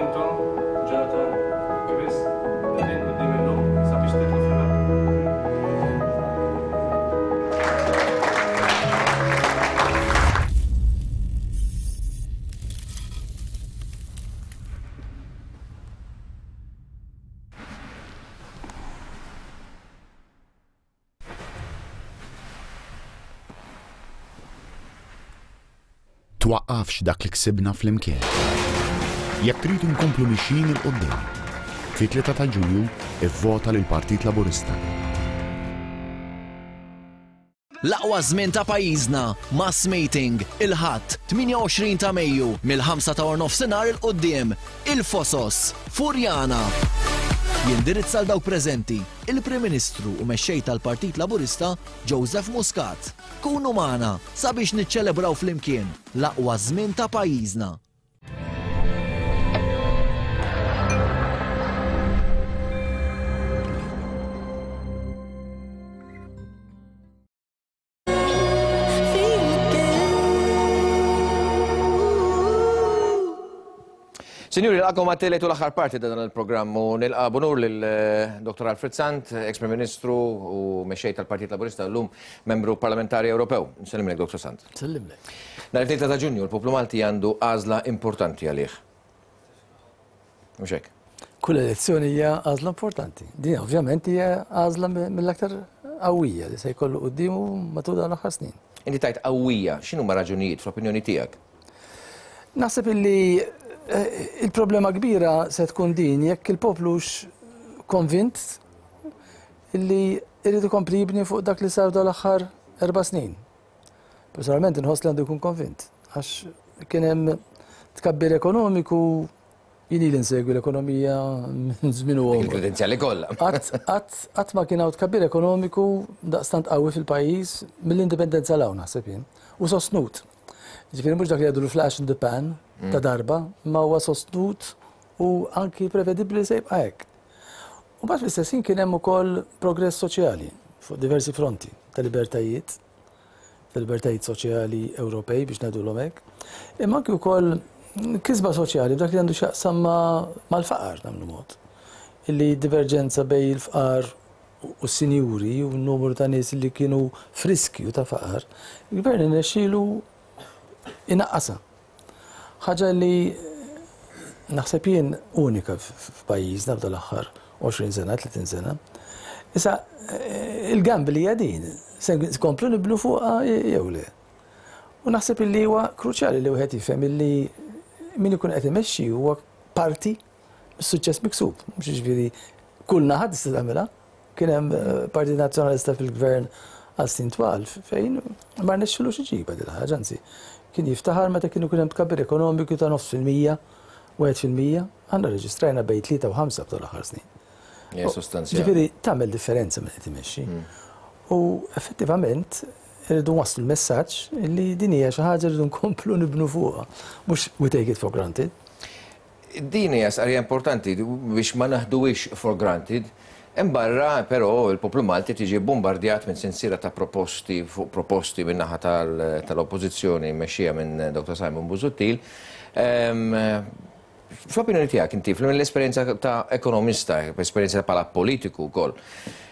Intom, Jonathan, Chris, qegħdin quddiemi llum sabiex tidħlu fil-ħabs. Twaqqafx dak li ksibna flimkien. Jekk trid inkomplu mixjin 'il quddiem, fit-3 ta' Ġunju ivvota lill-Partit Laburista. L-aqwa żmien ta' pajjiżna, Mass Meeting, il-Ħadd, 28 ta' Mejju, mill-ħamsa ta' warnofsinhar 'il quddiem, Il-Fosos, Furjana. Jindirizza 'l dawk preżenti, il-Prim Ministru u Mexxej tal-Partit Laburista, Joseph Muscat. Kunu magħna sabiex niċċelebraw flimkien l-aqwa żmien ta' pajjiżna. Sinjuri, nilqakom għat-tielet u l-aħħar parti ta' dan il-programm u nilqa' b'unur lil eh, Dr. Alfred Sant, ex-Prim Ministru u mexxej tal-Partit Laburista llum membru parlamentari Ewropew. Nsellimlek, Dr. Sant. Nsellimlek. Nhar it-3 ta' Ġunju l-poplu Malti għandu għażla importanti għalih. Mhux hekk? Kull elezzjoni hija għażla importanti. Din ovvjament hija għażla mill-aktar qawwija li se jkollu quddiemu matul dawn l-aħħar snin. Inti tajt qawwija, x'inhuma raġunijiet fl-opinjoni tiegħek? Naħseb illi eh, il-problema kbira se tkun din jekk il-poplux konvint illi irid ikompli jibni fuq dak li sar dal-aħħar erba' snin. Personalment inħoss li għandu jkun konvint, għax kien hemm tkabbir ekonomiku jien ili nsegwi l-ekonomija minn żmien u Il-kredenzjali kollha. Qatt ma kien hawn tkabbir ekonomiku daqstant qawwi fil-pajjiż mill-indipendenza l hawn naħseb jien. U sostnut. Ġifieri mhux dak li jgħidu l-flash in the pan ta' mm. darba, ma huwa sostnut u anki prevedibbli se jibqa' hekk. U mbagħad fl-istess ħin kien hemm ukoll progress soċjali fuq diversi fronti ta' libertajiet tal-libertajiet soċjali Ewropej biex ngħidulhom hekk, imma anki wkoll kisba soċjali b'dak li għandu x'jaqsam mal-faqar nagħmlu mod. Illi diverġenza bej il-fqar u s-sinjuri u n-numru ta' nies li kienu friskju ta' faqar, il-gvern irnexxielu inaqqasha. Ħaġa li naħseb jien unika f'pajjiżna f'dan l-aħħar 20 sena, 30 sena. Issa, il-gamble hija din, se nkomplu nibnu fuqha jew le. U naħseb illi huwa kruċjali li wieħed jifhem illi min ikun qed imexxi huwa parti mis-suċċess miksub. Mhux jiġifieri kull naħa tista' tagħmilha. Kien hemm Partit Nazzjonalista fil-Gvern għal snin twal fejn ma rnexxilux iġibha din il-ħaġa, anzi kien jiftaħar meta kien ikun hemm tkabbir ekonomiku ta' nofs fil-mija, 1%. Aħna rreġistrajna bejn 3 u 5 f'dawn l-aħħar snin. Hija sostanzjali. Ġifieri tagħmel differenza min qed imexxi. U effettivament irridu nwasslu l-messaġġ li din hija xi ħaġa rridu nkomplu nibnu fuqha, mhux we take it for granted. Din hija stqarrija importanti biex ma naħduhiex for granted. Hemm barra, però, il-poplu Malti qed jiġi bbumbardjat minn sensiela ta' proposti fuq proposti min-naħa tal-Oppożizzjoni mmexxija minn Dottor Simon Busuttil. Fl-opinjoni tiegħek inti, mill-esperjenza ta' ekonomista, esperjenza bħala politiku wkoll,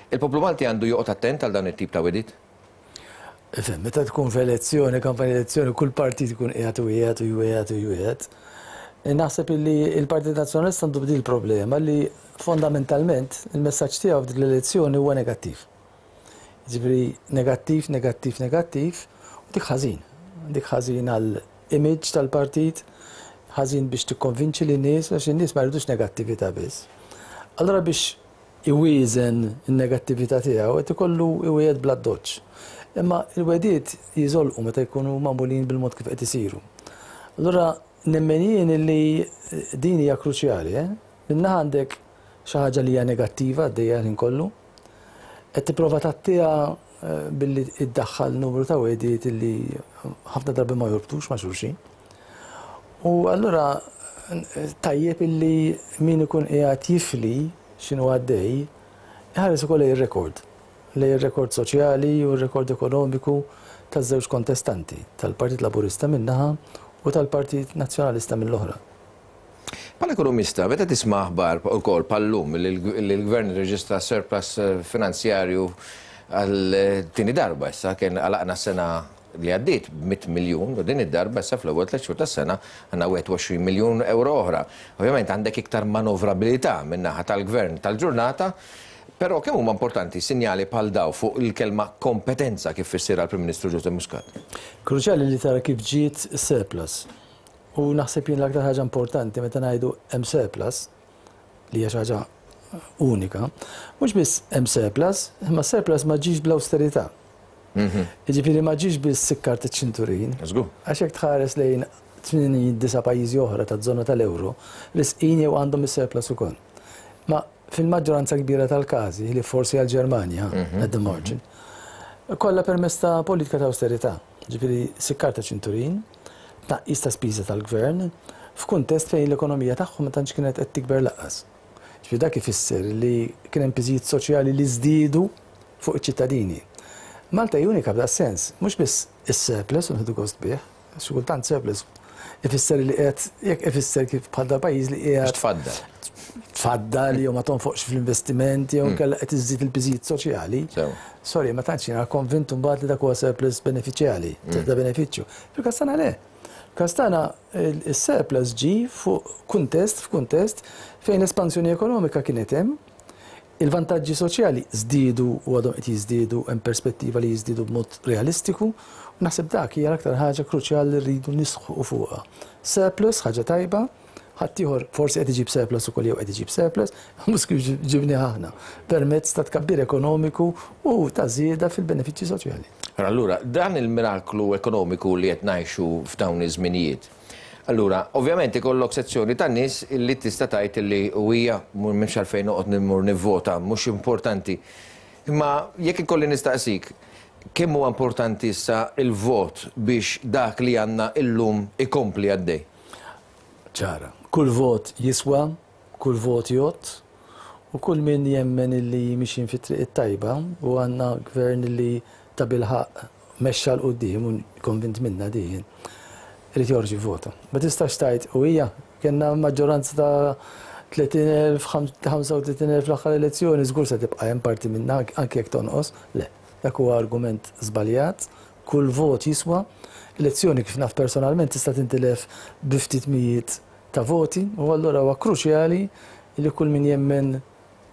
il-poplu Malti għandu joqgħod attent għal dawn it-tip ta' wegħdiet? Ifhem, meta tkun f'elezzjoni, kampanja elezzjoni, kull partit ikun qiegħed u jgħid u jwiegħed u jwiegħed. Naħseb illi l-Partit Nazzjonalista għandu b'din il-problema li fondamentalment il-messaġġ tiegħu f'dik l-elezzjoni huwa negattiv. Jiġifieri negattiv, negattiv, negattiv, u dik ħażin. Dik ħażin għal image tal-partit, ħażin biex tikkonvinċi lin-nies, għax in-nies ma jridux negattività biss. Allura biex iwieżen in-negattività tiegħu qed ikollu iwiegħed bl-addoċċ. Imma l-wegħdiet jiżolqu meta jkunu magħmulin bil-mod kif qed isiru. Allura nemmen jien illi din hija kruċjali, eh? Minn naħa għandek xi ħaġa li hija negattiva għaddejja l-ħin kollu, qed tipprova tgħattiha billi iddaħħal numru ta' wegħdiet illi ħafna drabi ma jorbtux ma' xulxin. U allura tajjeb illi min ikun qiegħed jifli x'inhu għaddej, iħares ukoll lejn ir-rekord, lejn ir-rekord soċjali u r-rekord ekonomiku taż-żewġ kontestanti, tal-Partit Laburista minn naħa u tal-Partit Nazzjonalista mill-oħra. Bħala ekonomista, meta tisma' aħbar ukoll bħal-lum li l-Gvern irreġistra surplus finanzjarju għal tieni darba issa, kien għalaqna s-sena li għaddiet b'100 miljun u din id-darba issa fl-ewwel tlett xhur tas-sena għandna 21 miljun ewro oħra. Ovvjament għandek iktar manovrabilità min-naħa tal-Gvern tal-ġurnata, però kemm huma importanti sinjali bħal dawn fuq il-kelma kompetenza kif fissirha l-Prim Ministru Joseph Muscat? Kruċjali li tara kif ġiet is-surplus. U naħseb jien l-aktar ħaġa importanti meta ngħidu hemm surplus, li hija xi ħaġa unika, mhux biss hemm surplus, imma surplus ma ġiex bl-awsterità. Jiġifieri ma ġiex biss sikkar iċ-ċinturin. Għax jekk tħares lejn 89 pajjiżi oħra taż-żona tal-euro, risqin jew għandhom is-surplus ukoll. Ma fil-maġġoranza kbira tal-każi, li forsi għall-Ġermanja, at the margin, kollha permezz ta' politika ta' awsterità. Ġifieri sikkar ta' ċinturin, tnaqqis ta' spiża tal-gvern, f'kuntest fejn l-ekonomija tagħhom ma tantx kienet qed tikber lanqas. Ġifieri dak ifisser li kien hemm piżijiet soċjali li żdiedu fuq iċ-ċittadini. Malta hi unika f'das-sens, mhux biss is-surplus u nieħdu gost bih, xi kultant surplus ifisser li qiegħed jekk ifisser kif bħal dal-pajjiż li qiegħed tfaddal. Tfaddal jew ma tonfoqx fl-investiment jew inkella qed iżżid il-piżijiet soċjali. Sorry, ma tantx jiena konvint imbagħad li dak huwa surplus benefiċjali, ta' benefiċċju. Fil-każ tagħna le. Fil-każ tagħna is-surplus ġie fuq kuntest f'kuntest fejn l-espansjoni ekonomika kienet hemm, Il-vantaġġi soċjali żdiedu u għadhom qed jiżdiedu, hemm perspettiva li jiżdiedu b'mod realistiku u naħseb dak hija l-aktar ħaġa kruċjali li rridu nisħqu fuqha. Surplus ħaġa tajba, ħaddieħor forsi qed iġib surplus ukoll jew qed iġib surplus, mhux kif ġibnieh aħna, permezz ta' tkabbir ekonomiku u ta' żieda fil-benefiċċji soċjali. Allura, dan il-miraklu ekonomiku li qed ngħixu f'dawn iż-żminijiet, Allura, ovvjament ikollok sezzjoni ta' nies li tista' tgħid li u hija m'hemmx għalfejn noqgħod immur nivvota, mhux importanti. Imma jekk ikolli nistaqsik, kemm huwa importanti issa l-vot biex dak li għandna illum ikompli għaddej? Ċara. Kull vot jiswa, kull vot jgħodd u kull min jemmen illi mixjin fit-triq it-tajba u għandna gvern li tabilħaqq mexxa 'l quddiem u konvint minnha din jien, irid joħroġ jivvota. Ma tistax tgħid u hija kellna maġġoranza ta' 30,000, 35,000 fl-aħħar elezzjoni, żgur se tibqa' hemm parti minnha anke jekk tonqos. Le, dak huwa argument żbaljat, kull vot jiswa. Elezzjoni kif naf personalment tista' tintilef bi ftit mijiet ta' voti u allura huwa kruċjali li kull min jemmen.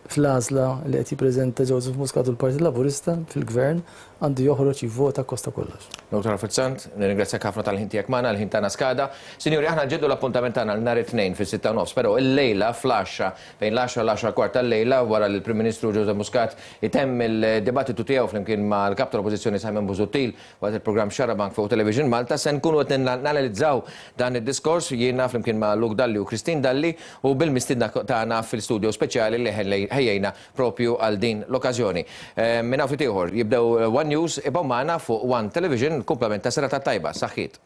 fl-għażla li qed jippreżenta Joseph Muscat u l-Partit Laburista fil-Gvern għandu joħroġ jivvota akkost ta' kollox. Dottor Alfred Sant, nirringrazzjak ħafna tal-ħin tiegħek magħna, il-ħin tagħna skada. Sinjuri, aħna nġeddu l-appuntament tagħna għal nhar it-Tnejn fis-sitta u nofs, però illejla fl-għaxra, bejn l-għaxra u l-għaxra kwart tal-lejla, wara li l-Prim Ministru Joseph Muscat itemm il-dibattitu tiegħu flimkien mal-Kap tal-Oppożizzjoni Simon Busuttil waqt il-programm Xarabank fuq Television Malta, se nkunu qed nanalizzaw dan id-diskors jiena flimkien ma' Luke Dalli u Christine Dalli u bil-mistiedna tagħna fil-studio speċjali li ħejjejna propju għal din l-okkażjoni. Minn hawn ftit ieħor jibdew One News, ibqgħu magħna fuq One Television, kumplament ta' serata tajba. Saħħiet.